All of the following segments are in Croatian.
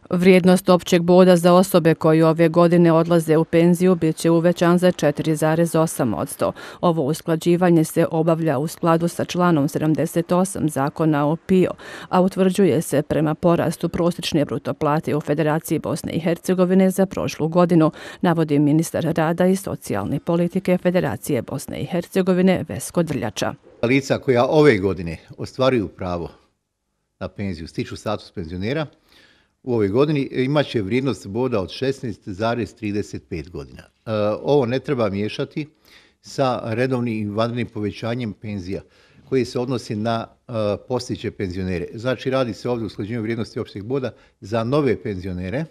Vrijednost općeg boda za osobe koji ove godine odlaze u penziju bit će uvećan za 4,8%. Ovo usklađivanje se obavlja u skladu sa članom 78 Zakona o PIO, a utvrđuje se prema porastu prosječne bruto plate u Federaciji Bosne i Hercegovine za prošlu godinu, navodi ministar rada i socijalne politike Federacije Bosne i Hercegovine Vesko Drljača. Lica koja ove godine ostvaruju pravo na penziju, stiču status penzionera, u ovoj godini imat će vrijednost boda od 16,35 godina. Ovo ne treba miješati sa redovnim i vanrednim povećanjem penzija koji se odnosi na postojeće penzionere. Znači radi se ovdje o usklađivanju vrijednosti općeg boda za nove penzionere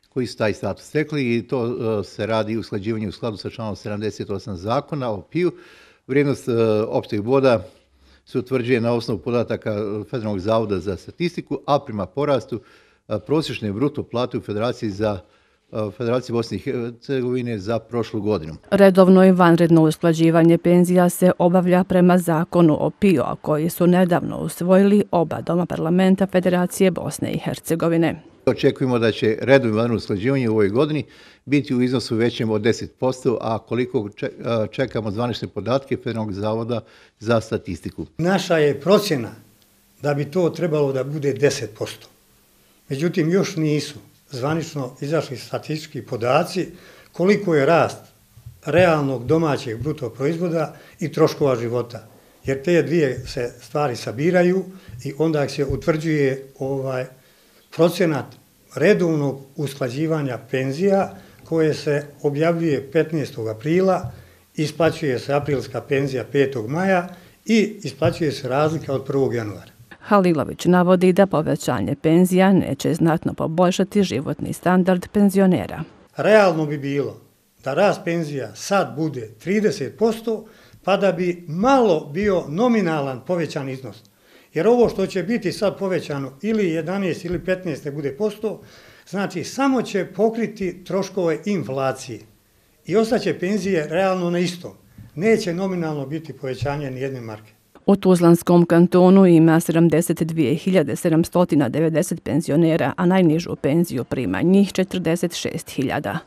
koji su taj status stekli i to se radi u usklađivanju u skladu sa članom 78 Zakona o PIO. Vrijednost općeg boda se utvrđuje na osnovu podataka Federalnog zavoda za statistiku, a prema porastu prosječne bruto plate u Federaciji Bosne i Hercegovine za prošlu godinu. Redovno i vanredno usklađivanje penzija se obavlja prema Zakonu o PIO, a koji su nedavno usvojili oba doma parlamenta Federacije Bosne i Hercegovine. Očekujemo da će redovno i vanredno usklađivanje u ovoj godini biti u iznosu većem od 10%, a koliko čekamo zvanične podatke Federalnog zavoda za statistiku. Naša je procjena da bi to trebalo da bude 10%. Međutim, još nisu zvanično izašli statistički podaci koliko je rast realnog domaćeg bruto proizvoda i troškova života. Jer te dvije se stvari sabiraju i onda se utvrđuje procenat redovnog usklađivanja penzija koje se objavljuje 15. aprila, isplaćuje se aprilska penzija 5. maja i isplaćuje se razlika od 1. januara. Halilović navodi da povećanje penzija neće znatno poboljšati životni standard penzionera. Realno bi bilo da rast penzija sad bude 30%, pa da bi malo bio nominalan povećan iznos. Jer ovo što će biti sad povećano ili 11 ili 15 ne bude posto, znači samo će pokriti troškove inflacije i ostaće penzije realno na istom. Neće nominalno biti povećanje ni jedne marke. U Tuzlanskom kantonu ima 72.790 penzionera, a najnižu penziju prima njih 46.000.